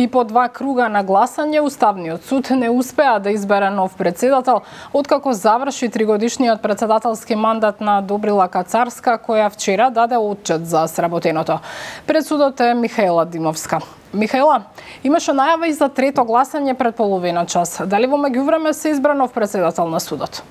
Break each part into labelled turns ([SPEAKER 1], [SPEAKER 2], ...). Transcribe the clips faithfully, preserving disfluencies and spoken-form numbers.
[SPEAKER 1] И по два круга на гласање, Уставниот суд не успеа да избере нов председател, откако заврши тригодишниот председателски мандат на Добрила Кацарска, која вчера даде отчет за сработеното. Пред судот е Михаела Димовска. Михаела, имаше најава и за трето гласање пред половина час. Дали во меѓувреме се избра нов председател на судот?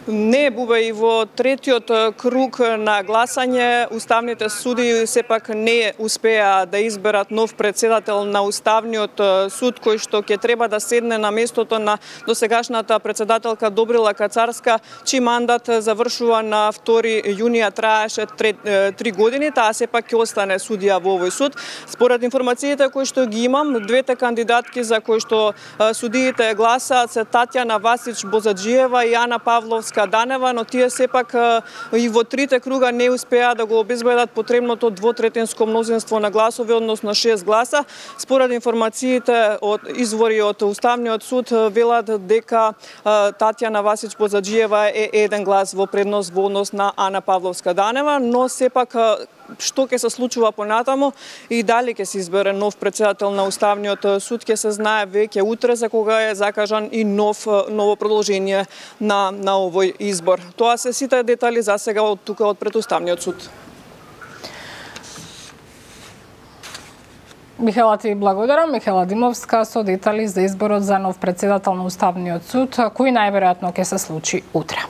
[SPEAKER 2] Не, Бубе, и во третиот круг на гласање уставните суди сепак не успеа да изберат нов председател на Уставниот суд, кој што ќе треба да седне на местото на досегашната председателка Добрила Кацарска, чиј мандат завршува на втори јуни, траеше три години, таа сепак ќе остане судија во овој суд. Според информациите кои што ги имам, двете кандидатки за кои што судиите гласаат се Татјана Васич Бозаджиева и Ана Павловска Данева, но тие сепак и во трите круга не успеа да го обезбедат потребното двотретинско мнозинство на гласови, односно шест гласа. Според информациите од извори од Уставниот суд велат дека Татјана Васич Бозаджиева е еден глас во предност во однос на Ана Павловска Данева, но сепак што ќе се случува понатаму и дали ќе се избере нов председател на Уставниот суд ќе се знае веќе утре, за кога е закажан и нов ново продолжение на на овој избор. Тоа се сите детали за сега од тука од пред Уставниот суд.
[SPEAKER 1] Михаела, ти благодарам. Михаела Димовска со детали за изборот за нов председател на Уставниот суд, кој најверојатно ќе се случи утре.